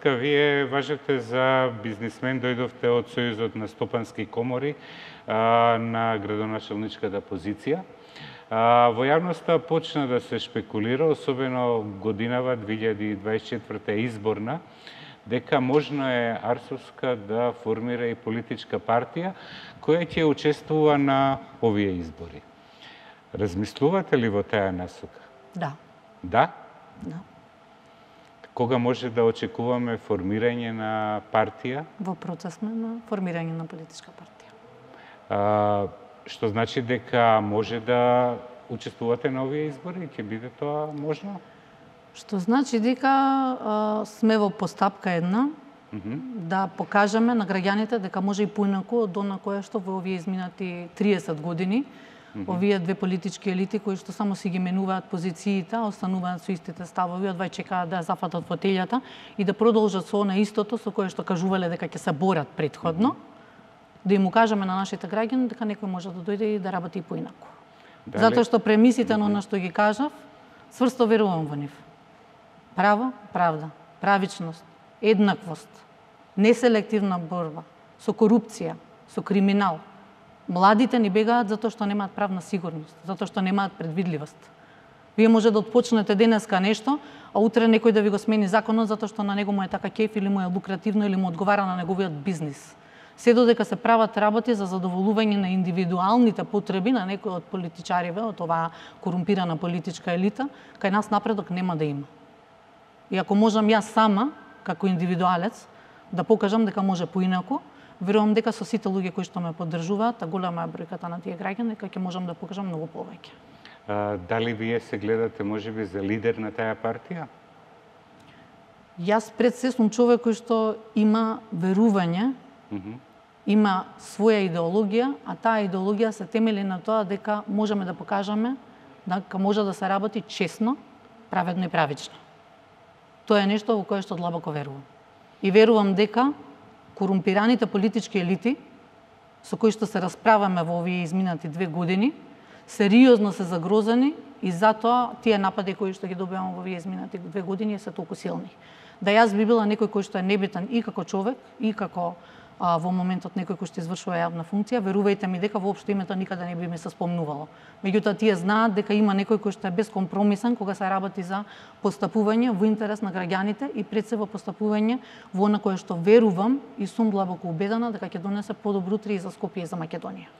Вие важете за бизнисмен, дојдовте од Сојузот на стопански комори на градоначалничката позиција. Во јавноста почна да се шпекулира, особено годинава 2024 изборна, дека можно е Арсовска да формира и политичка партија која ќе учествува на овие избори. Размислувате ли во таа насока? Да. Да? Да. Кога може да очекуваме формирање на партија? Во процес сме на формирање на политичка партија. Што значи дека може да учествувате на овие избори? Ќе биде тоа можно? Што значи дека сме во постапка една да покажеме на граѓаните дека може и поинаку од она кое што во овие изминати 30 години овие две политички елити кои што само си ги менуваат позициите, остануваат со истите ставови, одвај чекаат да ја зафатат фотелјата и да продолжат со она истото со кое што кажувале дека ќе се борат претходно, да им кажеме на нашите граѓани дека некој може да дојде и да работи и поинаку. Затоа што премисите на она што ги кажав, цврсто верувам во нив. Право, правда, правичност, еднаквост, неселективна борба со корупција, со криминал. Младите ни бегаат затоа што немаат правна сигурност, затоа што немаат предвидливост. Вие може да отпочнете денеска нешто, а утре некој да ви го смени законот затоа што на него му е така кеф или му е лукративно или му одговара на неговиот бизнис. Се додека се прават работи за задоволување на индивидуалните потреби на некој од политичариве, од оваа корумпирана политичка елита, кај нас напредок нема да има. И ако можам јас сама, како индивидуалец, да покажам дека може поинаку, верувам дека со сите луѓе кои што ме поддржуваат, а голема е бројката на тие граѓани, дека ќе можам да покажам многу повеќе. Дали вие се гледате можеби за лидер на таа партија? Јас пред се сум човек кој што има верување, има своја идеологија, а таа идеологија се темели на тоа дека можеме да покажеме дека може да се работи честно, праведно и правично. Тоа е нешто во кое што длабоко верувам. И верувам дека корумпираните политички елити со кои што се расправаме во овие изминати 2 години, сериозно се загрозени и затоа тие напади кои што ги добиваме во овие изминати 2 години се толку силни. Да јас би била некој кој што е небитен и како човек, и како во моментот некој кој што извршува јавна функција, верувајте ми дека воопшто името никаде не би ми се спомнувало. Меѓутоа тие знаат дека има некој кој што е бескомпромисен кога се работи за постапување во интерес на граѓаните и пред се во постапување во она кое што верувам и сум длабоко убедена дека ќе донесе подобро утре и за Скопје и за Македонија.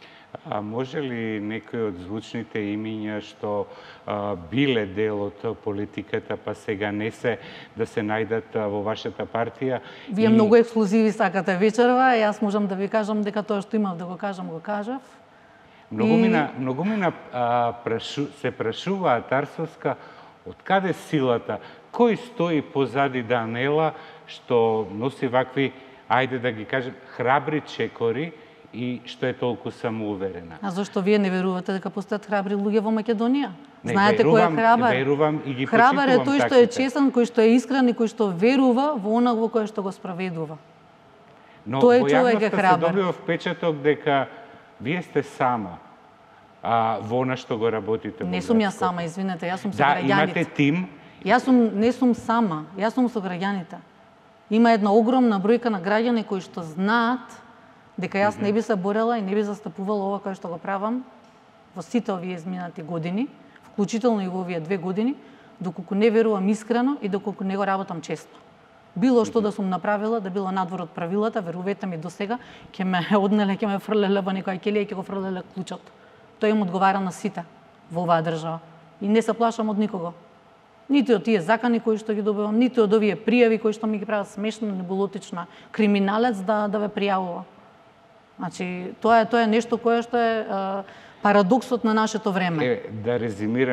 А може ли некои од звучните имиња што биле дел од политиката, па сега не се, да се најдат во вашата партија? Вие многу ексклузиви сакате вечерва, јас можам да ви кажам дека тоа што имав да го кажам, го кажав. Многу мина се прашуваат Арсовска, од каде силата, кој стои позади Данела, што носи вакви, ајде да ги кажем, храбри чекори, и што е толку самоуверена. А зашто вие не верувате дека постојат храбри луѓе во Македонија? Знаете кој е храбар? Верувам и ги храбар е тој што е таките. честен, кој што е искрен и кој што верува во она во кое што го спроведува. Но тој во човек е јавноста храбар. се добива впечаток дека вие сте сама во она што го работите. Не сум ја сама, извинете, јас сум со граѓаните. Да, граѓаните. имате тим. Не сум сама, јас сум со граѓаните. Има една огромна бројка на граѓани кои што знаат дека јас не би се борела и не би застапувала ова кое што го правам во сите овие изминати години, вклучително и во овие 2 години, доколку не верувам искрено и доколку не го работам честно. Било што да сум направила, да било надвор од правилата, верувате ми, до сега ќе ме однеле, ќе ме фрлеле во некоја ќелија и ќе го фрлеле клучот. Тој им одговара на сите во оваа држава. И не се плашам од никого. Ниту од тие закани кои што ги добивам, ниту од овие пријави кои што ми ги прават смешно, небулотично, криминалец да ве пријавува. Значи, тоа е нешто кое што е парадоксот на нашето време. Да резимирам